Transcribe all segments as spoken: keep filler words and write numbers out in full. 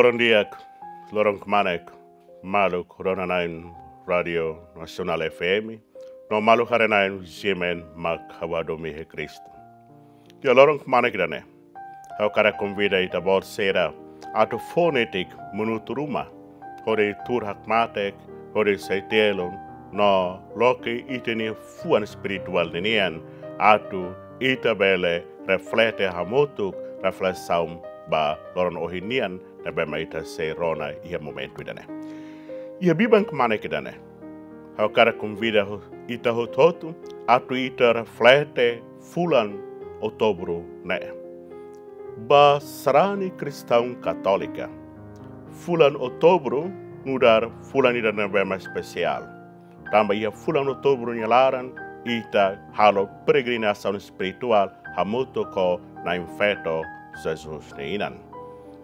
Loron di'ak, loron kmanek, maluk rona-na'in Rádiu Nasionál F M, no maluk haree-na'in G M N mak ha'u hadomi iha Kristu. Iha loron kmanek ida-ne'e, ha'u hakarak konvida ita-boot sira atu fó netik minutu ruma, hodi tuur hakmatek, hodi sai tielun, no loke ita-nia fuan espirituál ninian, atu ita bele reflete hamutuk reflesaun ba loron ohin nian, ne'ebé mak ita sei rona iha momentu ida-ne'e. Iha biban kmanek ida-ne'e, ha'u hakarak konvida ho-, ita hotu-hotu atu ita reflete fulan Outubru ne'e. Ba sarani kristaun katólika, fulan Outubru nu'udar fulan ida ne'ebé mak espesiál. Tanba iha fulan Outubru nia laran, ita halo peregrinasaun espirituál hamutuk ho Na'in Feto Jesus nia inan.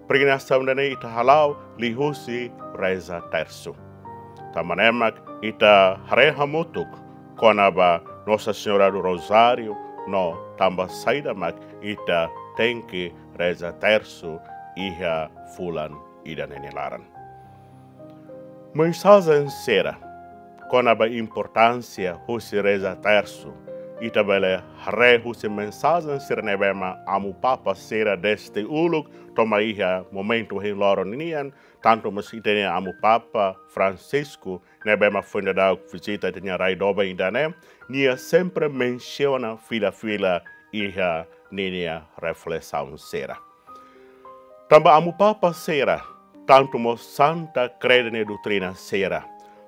Peregrinasaun ida-ne'e ita hala'o liuhusi reza tersu. Tanba ne'e mak ita haree hamutuk kona-ba Nossa Senhora do Rosário no tanba saida mak ita tenke reza tersu iha fulan ida-ne'e nia laran. Mensajen sira kona-ba importánsia husi reza tersu, ita bele haree husi mensajen sira ne'ebé mak Amu Papa sira dezde uluk to'o mai iha momentu ohin loron nian, tantu mós ita-nia Amu Papa Francisco, ne'ebé mak foin daudauk vizita ita-nia rai doben ida-ne'e, nia sempre mensiona fila-fila iha ninia reflesaun sira. Tanba Amu Papa sira, tantu mós Santa Kreda nia doutrina sira,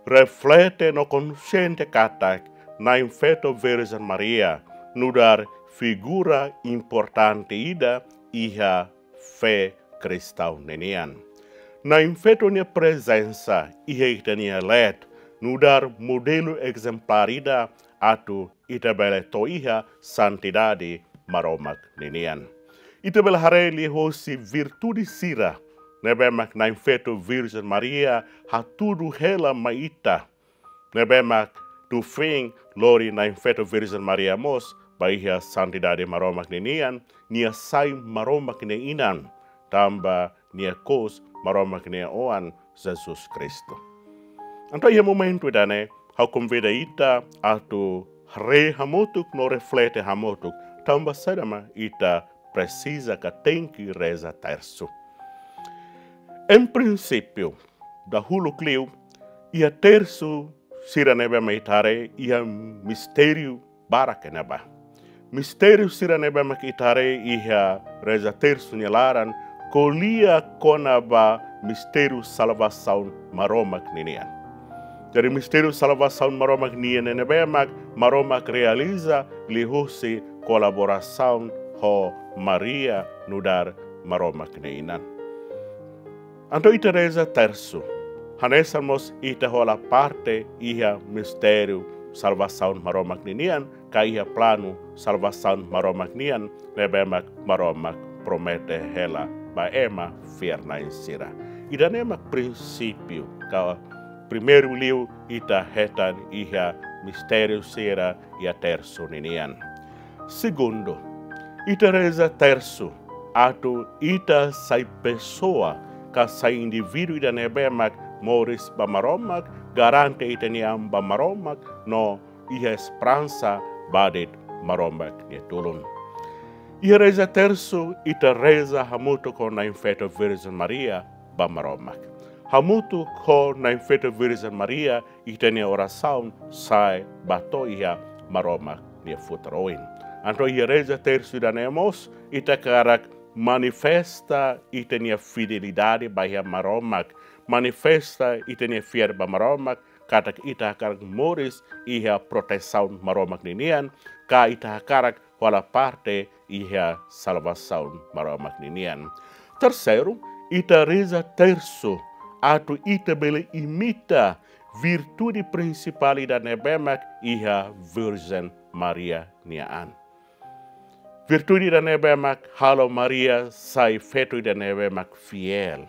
reflete no konsiente katak Na'in Feto Virjen Maria nu'udar figura importante ida iha fé kristaun ninian. Na'in Feto nia prezensa iha ita-nia leet nu'udar modelu ezemplár ida atu ita bele to'o iha santidade Maromak ninian. Ita bele haree liuhusi virtude sira ne'ebé mak Na'in Feto Virjen Maria hatudu hela mai ita, ne'ebé mak tuir feen lori Na'in Feto Virjen Maria mós ba iha santidade Maromak ninian, nia sai Maromak nia inan, tanba nia kous Maromak nia Oan Jesus Kristu. Entaun iha momentu ida-ne'e, ha'u konvida ita atu haree hamutuk no reflete hamutuk, tanba saida mak ita presiza ka tenke reza tersu. Em princípio, dahuluk liu, iha tersu sira ne'ebé mak ita haree iha mistériu barak iha ne'ebá. Mistériu sira ne'ebé mak ita haree iha reza tersu nia laran, ko'alia kona-ba mistériu salvasaun Maromak ninian. Jadi mistériu salvasaun Maromak nian ne'ebé mak Maromak realiza liuhusi kolaborasaun ho Maria nu'udar Maromak nia inan. Entaun ita reza tersu, hanesan mós ita hola parte iha mistériu salvasaun Maromak ninian, ka iha planu salvasaun Maromak nian, ne'ebé mak Maromak promete hela ba ema fiar-na'in sira. Ida-ne'e mak prinsípiu ka primeiru liu ita hetan iha mistériu sira iha tersu ninian. Segundu, ita reza tersu atu ita sai pesoa ka sai indivíduu ida ne'ebé mak moris ba Maromak, garante ita-nia an ba Maromak no iha esperansa ba de'it Maromak nia tulun. Iha reza tersu ita reza hamutuk ho Na'in Feto Virjen Maria ba Maromak. Hamutuk ho Na'in Feto Virjen Maria ita-nia orasaun sai ba to'o iha Maromak nia futar oin. Entaun iha reza tersu ida-ne'e mós ita hakarak manifesta ita-nia fidelidade ba iha Maromak, manifesta ita-nia fiar ba Maromak, katak ita hakarak moris iha protesaun Maromak ninian, ka ita hakarak hola parte iha salvasaun Maromak ninian. Terseiru, ita reza tersu atu ita bele imita virtude prinsipál ida ne'ebé mak iha Virjen Maria nia an. Virtude ida ne'ebé mak halo Maria sai feto ida ne'ebé mak fiél.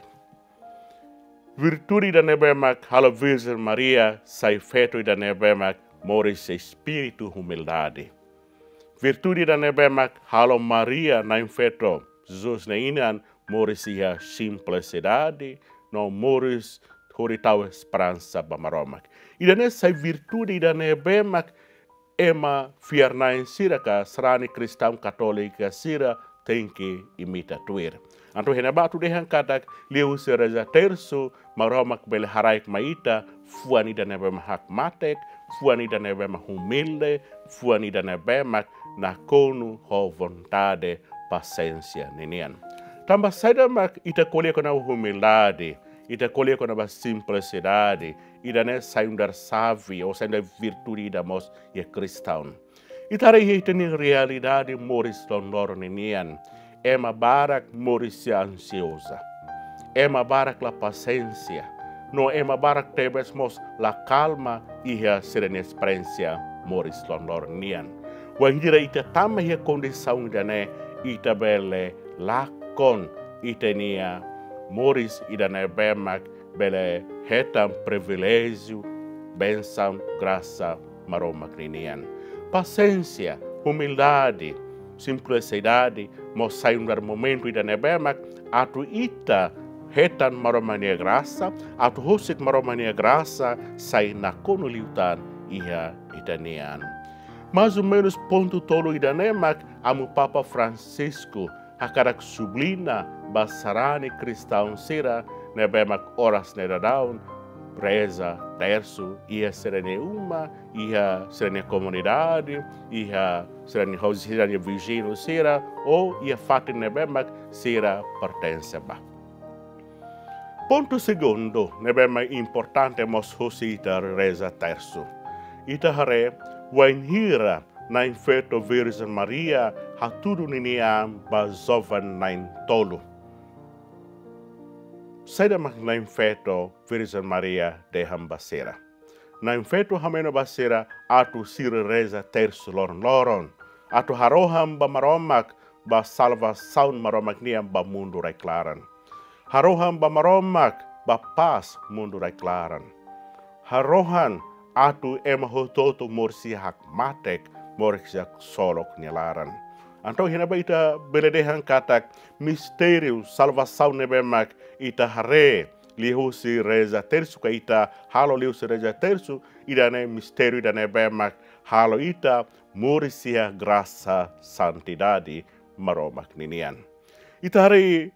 Virtude ida ne'ebé mak halo Virjen Maria sai feto ida ne'ebé mak moris espíritu humildade. Virtude ida ne'ebé mak halo Maria Na'in Feto Jesus nia inan moris iha simplisidade, no moris hodi tau esperansa ba Maromak. Ida-ne'e sai virtude ida ne'ebé mak ema fiar-na'in sira ka sarani kristaun katólika sira tenke imita tuir. Entaun iha ne'ebá atu dehan katak liuhusi reza tersu, Maromak bele haraik mai ita fuan ida ne'ebé mak hakmatek, fuan ida ne'ebé mak humilde, fuan ida ne'ebé mak nakonu ho vontade pasiénsia ninian. Tanba saida mak ita ko'alia kona-ba humildade, ita ko'alia kona-ba simplisidade, ida-ne'e sai nu'udar xave, ou sai nu'udar virtude ida mós iha kristaun. Ita haree iha ita-nia realidade moris loroloron ninian. Ema barak moris ansioza. Ema barak la pasiénsia. No ema barak tebes mós la kalma iha sira-nia esperiénsia moris loroloron nian. Wainhira ita tama iha kondisaun ida-ne'e, ita bele lakon ita-nia moris ida ne'ebé mak bele hetan priviléjiu, bensaun, grasa Maromak ninian. Pasiénsia, humildade, simplisidade mós sai nu'udar momentu ida ne'ebé mak atu ita hetan Maromak nia grasa, atu husik Maromak nia grasa sai nakonu liután iha ita nian. Mais ou menus pontu tolu ida-ne'e mak Amu Papa Francisco hakarak subliña ba sarani kristaun sira ne'ebé mak oras ne'e daudaun reza tersu iha sira-nia uma, iha sira-nia komunidade, iha sira-nia ho sira-nia viziñu sira, ou iha fatin ne'ebé mak sira pertense ba. Pontu segundu ne'ebé mak importante mós husi ita reza tersu. Ita haree wainhira Na'in Feto Virjen Maria hatudu ninia an ba joven na'in-tolu. Saida mak Na'in Feto Virjen Maria dehan ba sira? Na'in Feto hameno ba sira atu sira reza tersu loron-loron, atu harohan ba Maromak, ba salvasaun Maromak nian ba mundu rai-klaran. Harohan ba Maromak ba pás mundu rai-klaran. Harohan atu ema hotu-hotu moris iha hakmatek, moris iha ksolok nia laran. Entaun iha ne'ebá ita bele dehan katak mistériu salvasaun ne'ebé mak ita haree liuhusi reza tersu ka ita halo liuhusi reza tersu, ida-ne'e mistériu ida ne'ebé mak halo ita moris iha grasa santidade Maromak ninian. Ita haree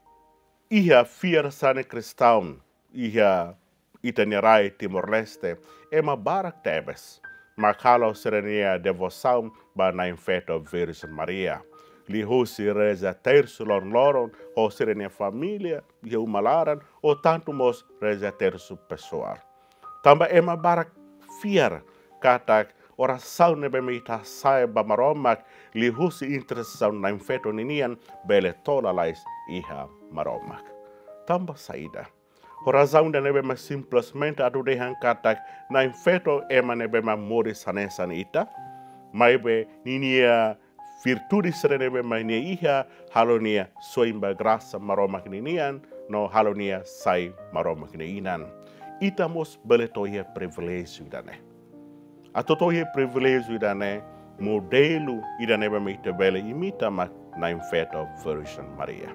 iha fiar sarani kristaun iha ita-nia rai Timor-Leste, ema barak tebes mak halo sira-nia devosaun ba Na'in Feto Virjen Maria liuhusi reza tersu loron-loron ho sira-nia família iha uma laran, ou tantu mós reza tersu pesoál. Tanba ema barak fiar katak orasaun ne'ebé mak ita hasa'e ba Maromak liuhusi intersesaun Na'in Feto ninian bele to'o lalais iha Maromak. Tanba saida? Ho razaun ida ne'ebé mak simplesmente atu dehan katak Na'in Feto ema ne'ebé mak moris hanesan ita, maibé ninia virtude sira ne'ebé mak nia iha halo nia soin ba grasa Maromak ninian, no halo nia sai Maromak nia inan. Ita mós bele to'o iha priviléjiu ida-ne'e. Atu to'o iha priviléjiu ida-ne'e, modelu ida ne'ebé mak ita bele imita mak Na'in Feto Virjen Maria.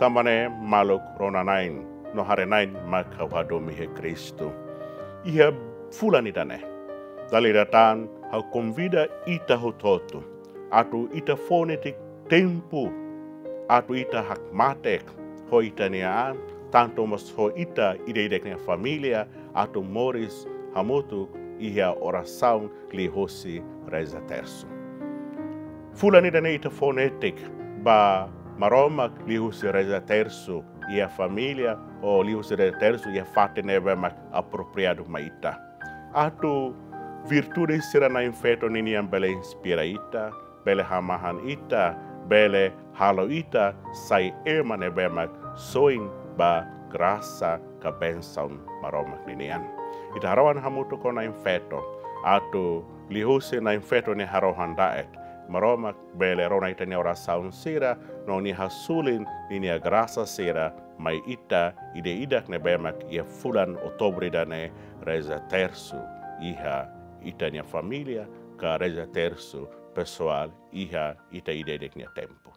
Tanba ne'e maluk rona-na'in no haree-na'in mak ha'u hadomi iha Kristu. Iha fulan ida-ne'e, dala ida tan ha'u konvida ita hotu-hotu atu ita fó netik tempu atu ita hakmatek ho ita-nia an, tantu mós ho ita ida-idak nia família, atu moris hamutuk iha orasaun liuhusi reza tersu. Fulan ida-ne'e ita fó netik ba Maromak liuhusi reza tersu iha família, ou liuhusi reza tersu iha fatin ne'ebé mak apropriadu mai ita. Atu virtude sira Na'in Feto ninian bele inspira ita, bele hamahan ita, bele halo ita sai ema ne'ebé mak soin ba grasa ka bensaun Maromak ninian. Ita harohan hamutuk ho Na'in Feto, atu liuhusi Na'in Feto nia harohan da'et, Maromak bele rona ita-nia orasaun sira, no nia hasulin ninia grasa sira mai ita ida-idak ne'ebé mak iha fulan Outubru ida-ne'e reza tersu iha ita-nia família, ka reza tersu pesoál iha ita ida-idak nia tempu.